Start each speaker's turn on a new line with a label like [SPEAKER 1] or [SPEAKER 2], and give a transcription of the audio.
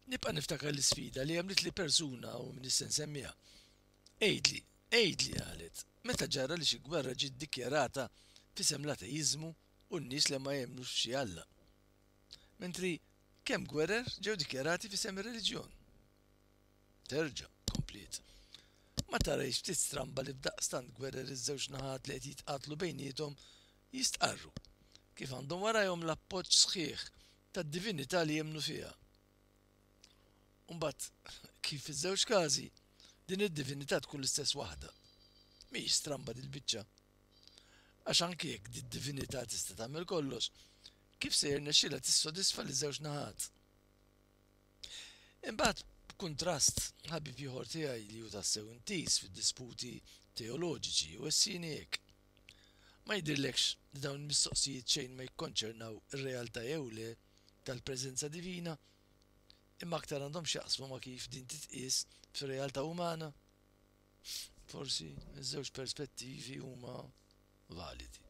[SPEAKER 1] Nibqa' niftakar l-isfida li għamlitli persuna u m'iniex se nsemmiha. Għidli, għidli, qalet, meta ġara li xi gwerra ġiet dikjarata f'isem l-ateiżmu u n-nies li ma jemmnux f'xi Alla? Mentri kemm gwerer ġew dikjarati f'isem ir-reliġjon? Terġa', kompliet. Ma tarahiex ftit stramba li f'daqstant gwerer iż-żewġ naħat li qed jitqatlu bejniethom jistqarru kif għandhom warajhom l-appoġġ sħiħ tad-divinità li jemmnu fiha? U mbagħad kif fiż-żewġ każi din id-divinità tkun l-istess waħda. Mhijiex stramba dil-biċċa? Għax anki jekk did-divinità tista' tagħmel kollox, kif se jirnexxilha tissodisfa liż-żewġ naħat? Imbagħad, b'kuntrast, ħabib ieħor tiegħi li hu tassew intiż fid-disputi teoloġiċi wessini hekk, Ma jidhirlekx li dawn il-mistoqsijiet xejn ma jikkonċernaw ir-realtà jew le tal-preżenza divina, imma aktar għandhom x'jaqsmu ma' kif din titqies fir-realtà umana? Forsi ż-żewġ perspettivi huma validi.